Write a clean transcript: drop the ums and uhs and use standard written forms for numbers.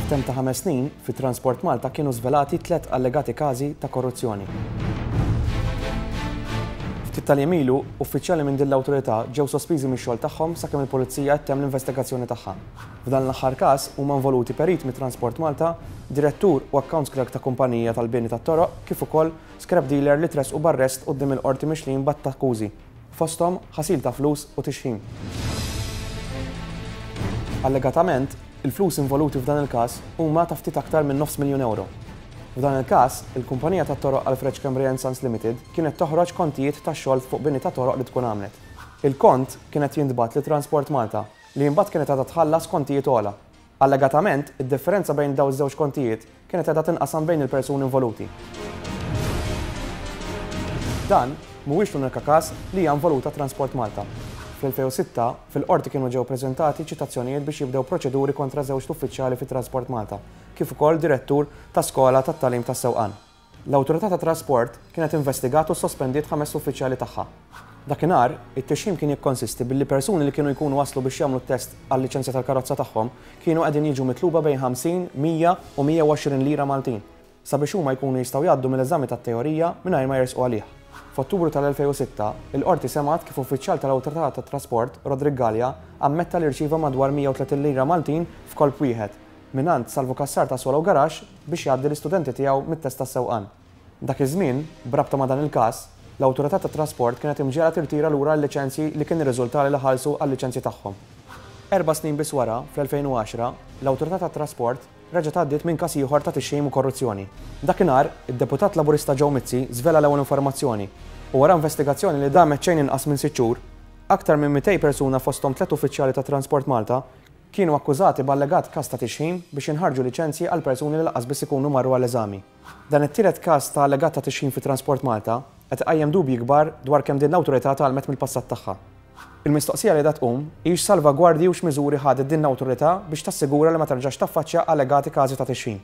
F'temp ta' ħames snin, fi Transport Malta kienu żvelati tlett allegati każi ta' korruzzjoni. Ftit tal-jiem ilu, uffiċjali minn din l-awtorità ġew sospiżi mix-xogħol tagħhom sakemm il-Pulizija qed ttemm l-investigazzjoni tagħha. F'dan l-aħħar każ huma involuti perit mit-Transport Malta, direttur u accounts clerk ta' kumpanija tal-bini tat-toroq kif ukoll scrap dealer li tressqu b'arrest quddiem il-Qorti mixlijin b'għadd ta' akkużi, fosthom ħasil ta' flus u tixħim. Allegatament, il-flus involuti f'dan il-każ huma ta' ftit aktar minn nofs miljun ewro. F'dan il-każ, il-kumpanija tat-toroq Alfred Schembri and Sons Limited kienet toħroġ kontijiet ta' xogħol fuq bini ta' toroq li tkun għamlet. Il-kont kien qed jintbagħat lil Transport Malta, li imbagħad kienet għadha tħallas kontijiet ogħla. Allegatament, id-differenza bejn dawn iż-żewġ kontijiet kienet qiegħda tinqasam bejn il-persuni involuti. Dan mhuwiex l-unika każ li hija involuta Transport Malta. Fl-2006, fil-Qorti kienu ġew preżentati ċitazzjonijiet biex jibdew proċeduri kontra żewġt uffiċjali fi Transport Malta kif ukoll direttur ta' skola tat-tagħlim tas-sewqan. L-Awtorità tat-Trasport kienet investigat u ssospendiet ħames uffiċjali tagħha. Dakinhar, it-tixħim kien jikkonsisti billi persuni li kienu jkunu waslu biex jagħmlu t-test għal-liċenzja tal-karozza tagħhom kienu qegħdin jiġu mitluba bejn 50, 100 u 120 lira Maltin sabiex huma jkunu jistgħu jgħaddu mill-eżami tat-teorija mingħajr ma jersqu għalih. F'Ottubru tal-2006, il-Qorti semgħet kif uffiċjal tal-Awtorità tat-Trasport, Roderick Galea, ammetta li rċieva madwar 130 lira Maltin f'kolp wieħed mingħand Salvu Cassar ta' Swallow Garage biex jgħaddi l-istudenti tiegħu mit-test tas-sewqan. Dak iż-żmien, b'rabta ma' dan il-każ, l-Awtorità tat-Trasport kienet imġiegħla tirtira lura l-liċenzji li kien irriżultali li ħallsu għal-liċenzji tagħhom. Erba' snin biss wara, fl-2010, l-Awtorità tat-Trasport reġgħet għaddiet minn każ ieħor ta' tixħim u korruzzjoni. Dakinhar, id-Deputat Laburista Joe Mizzi żvela l-ewwel informazzjoni u wara investigazzjoni li damet xejn inqas minn sitt xhur, aktar minn 200 persuna fosthom tlett uffiċjali ta' Transport Malta Kienu akkużati b'allegat każ ta' tixħim biex jinħarġu liċenzji għal persuni li lanqas biss ikunu marru għall-eżami. Dan it-tielet każ ta' allegat ta' tixħim fi Transport Malta qed iqajjem dubji kbar dwar kemm din l-awtorità tgħallmet mill-passat tagħha. Il-mistoqsija li qiegħda tqum hi x'salvagwardji u x'miżuri ħadet din l-awtorità biex tassigura li ma terġax taffaċċja allegati każi ta' tixħim.